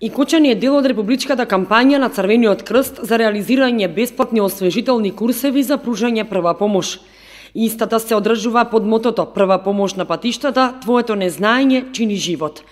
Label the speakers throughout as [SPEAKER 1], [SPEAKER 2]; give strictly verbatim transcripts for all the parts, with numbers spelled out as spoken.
[SPEAKER 1] И Кочани е дел од републичката кампања на Црвениот крст за реализирање бесплатни освежителни курсеви за пружање прва помош. Истата се одржува под мотото Прва помош на патиштата, твоето незнаење чини живот.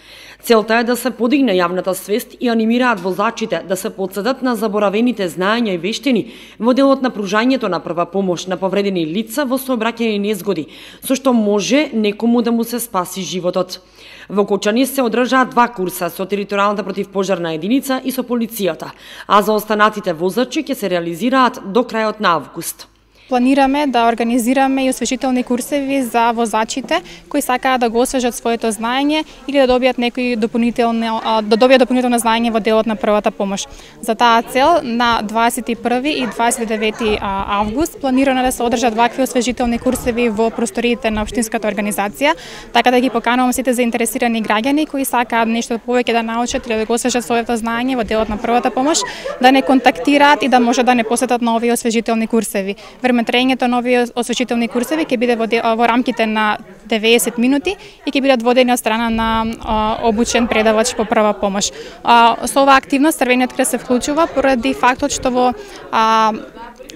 [SPEAKER 1] Целта е да се подигне јавната свест и анимираат возачите да се подсетат на заборавените знаења и вештини во делот на пружањето на прва помош на повредени лица во сообраќајни незгоди, со што може некому да му се спаси животот. Во Кочани се одржаат два курса со територијалната противпожарна единица и со полицијата, а за останатите возачи ќе се реализираат до крајот на август.
[SPEAKER 2] Планираме да организираме и освежителни курсеви за возачите кои сакаат да го освежат своето знаење или да добијат некои дополнително да добијат дополнително знаење во делот на првата помош. За таа цел на дваесет и први и дваесет и девети август планирано да се одржат вакви освежителни курсеви во просториите на општинската организација, така да ги поканувам сите заинтересирани граѓани кои сакаат нешто повеќе да научат или да го освежат своето знаење во делот на првата помош, да не контактираат и да може да не посетат на овие освежителни курсеви. Траењето на овие освежителни курсеви ќе биде во, во рамките на деветдесет минути и ќе бидат водени од страна на а, обучен предавач по прва помош. А, со оваа активност Црвениот крст се вклучува поради фактот што во а,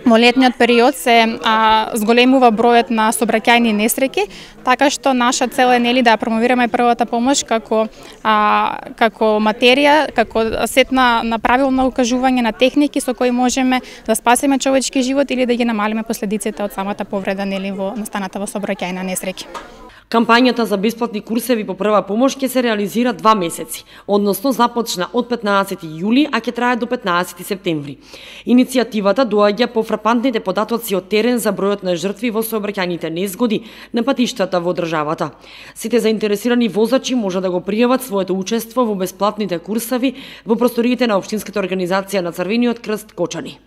[SPEAKER 2] Во летниот период се а, зголемува бројот на сообраќајни несреќи, така што наша цел е нели да промовираме првата помош како а, како материја, како сет на, на правилно укажување на техники со кои можеме да спасиме човечки живот или да ги намалиме последиците од самата повреда нели во настаната во сообраќајна несреќа.
[SPEAKER 1] Кампањата за бесплатни курсеви по прва помош ќе се реализира два месеци, односно започна од петнаесети јули, а ќе трае до петнаесети септември. Иницијативата доаѓа по фрапантните податоци од терен за бројот на жртви во сообраќајните незгоди на патиштата во државата. Сите заинтересирани возачи може да го пријават своето учество во бесплатните курсеви во просториите на општинската организација на Црвениот крст Кочани.